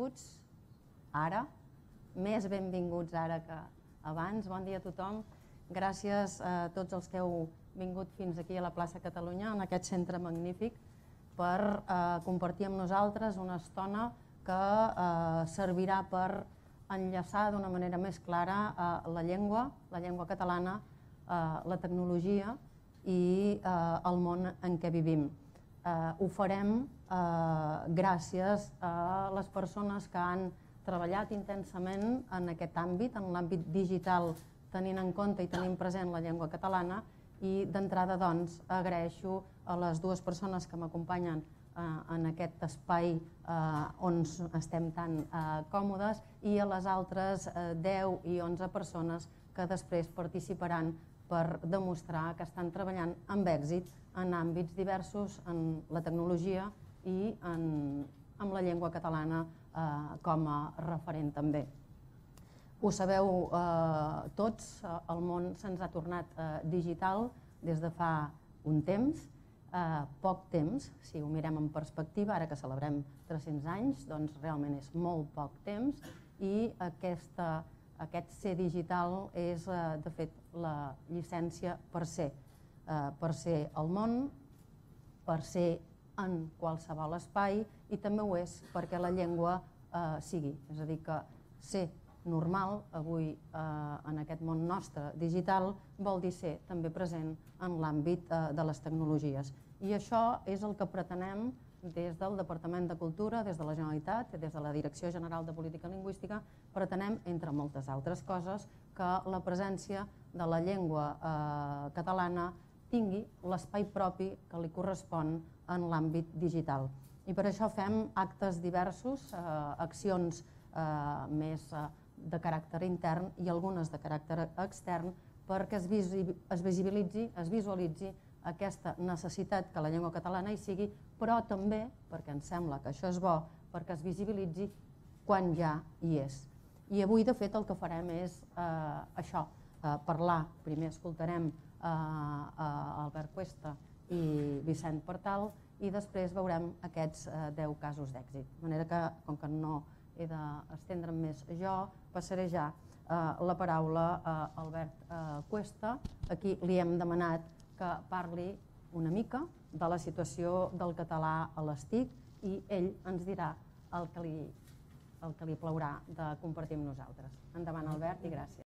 benvinguts ara, més benvinguts ara que abans. Bon dia a tothom. Gràcies a tots els que heu vingut fins aquí a la plaça Catalunya, en aquest centre magnífic, per compartir amb nosaltres una estona que servirà per enllaçar d'una manera més clara la llengua catalana, la tecnologia i el món en què vivim. Ho farem gràcies a les persones que han treballat intensament en aquest àmbit, en l'àmbit digital, tenint en compte i tenint present la llengua catalana, i d'entrada doncs agraeixo a les dues persones que m'acompanyen en aquest espai on estem tan còmodes i a les altres 10 i 11 persones que després participaran per demostrar que estan treballant amb èxit en àmbits diversos, en la tecnologia i amb la llengua catalana com a referent també. Ho sabeu tots, el món se'ns ha tornat digital des de fa un temps, poc temps, si ho mirem en perspectiva, ara que celebrem 300 anys, doncs realment és molt poc temps, i aquest ser digital és de fet la llicència per ser al món, per ser en qualsevol espai, i també ho és perquè la llengua sigui, és a dir que ser normal avui en aquest món nostre digital vol dir ser també present en l'àmbit de les tecnologies. I això és el que pretenem des del Departament de Cultura, des de la Generalitat, des de la Direcció General de Política Lingüística, pretenem, entre moltes altres coses, que la presència de la llengua catalana tingui l'espai propi que li correspon en l'àmbit digital. I per això fem actes diversos, accions més de caràcter intern i algunes de caràcter extern, perquè es visualitzi aquesta necessitat que la llengua catalana hi sigui, però també, perquè ens sembla que això és bo, perquè es visibilitzi quan ja hi és. I avui, de fet, el que farem és això, parlar. Primer escoltarem Albert Cuesta i Vicent Partal i després veurem aquests 10 casos d'èxit. De manera que, com que no he d'estendre'm més jo, passaré ja la paraula a Albert Cuesta, a qui li hem demanat que parli una mica de la situació del català a les TIC i ell ens dirà el que li plaurà de compartir amb nosaltres. Endavant, Albert, i gràcies.